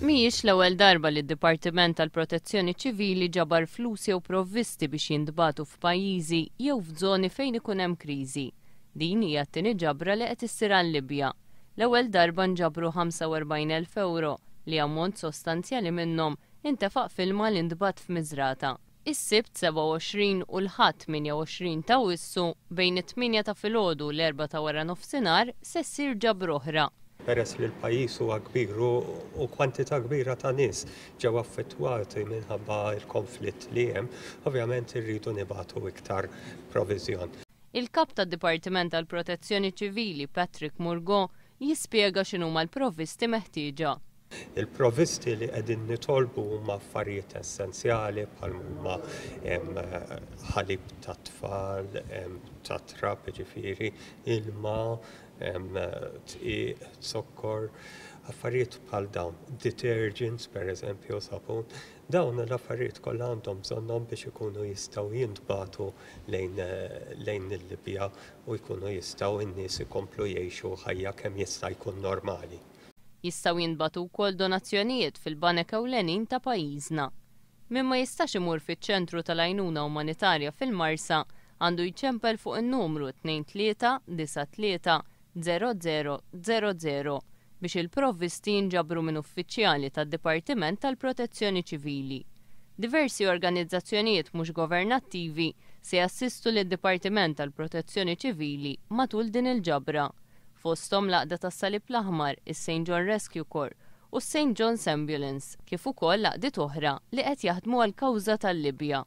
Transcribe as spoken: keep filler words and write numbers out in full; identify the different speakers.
Speaker 1: Mhijiex l-ewwel darba li d-Dipartiment tal-Protezzjoni Ċivili ġabar flus jew provvisti biex jintbagħtu f'pajjiżi jew f'żoni fejn ikun hemm kriżi. Din hija t-tieni ġabra li qed issir għal-Libja. L-ewwel darba nġabru ħamsa u erbgħin elf euro li ammont sostanzjali minnhom intefaq f'ilma li ntbagħat f'Miżrata. Is-Sibt sebgħa u għoxrin u l-Ħadd tmienja u għoxrin ta' Awwissu bejn it-tmienja ta' filgħodu u l-erbgħa ta' wara nofsinhar se ssir ġabra oħra.
Speaker 2: Peress li l-pajjiż huwa kbir u kwantità kbira ta' nies ġew affettwati minħabba l-konflitt li hemm, ovvjament irridu nibagħtu iktar proviżjon.
Speaker 1: Il-kap tad-Dipartiment tal-Protezzjoni Ċivili, Patrick Murgo, jispjega x'inhuma l-provvisti meħtieġa.
Speaker 2: Il-provvisti li qegħdin nitolbu huma affarijiet essenzjali bħal huma ħalib tat-tfal, tat-trab, ġifieri, ilma, dqiq, zokkor, affarijiet bħal dawn, detergents per eżempju, sapun, dawn l-affarijiet kollha għandhom bżonnhom biex ikunu jistgħu jintbagħtu lejn lejn il-Libja u jkunu jistgħu n-nies ikomplu jgħixu ħajja kemm jista' jkun normali.
Speaker 1: Jistgħu jintbagħtu wkoll donazzjonijiet fil-banek ewlenin ta' pajjiżna. Min ma jistax imur fiċ-ċentru tal-għajnuna umanitarja fil-Marsa għandu jċempel fuq in-numru tnejn tlieta disa' tlieta żero żero żero żero biex il-provvisti jinġabru minn uffiċjali tad-Dipartiment tal-Protezzjoni Ċivili. Diversi organizzazzjonijiet mhux governattivi se jassistu lid-Dipartiment tal-Protezzjoni Ċivili matul din il-ġabra. Fosthom l-Għaqda tas-Salib l-Aħmar, is-Saint John Rescue Corps u s-Saint John's Ambulance, kif ukoll għaqdiet oħra li qed jaħdmu għal kawża tal-Libja.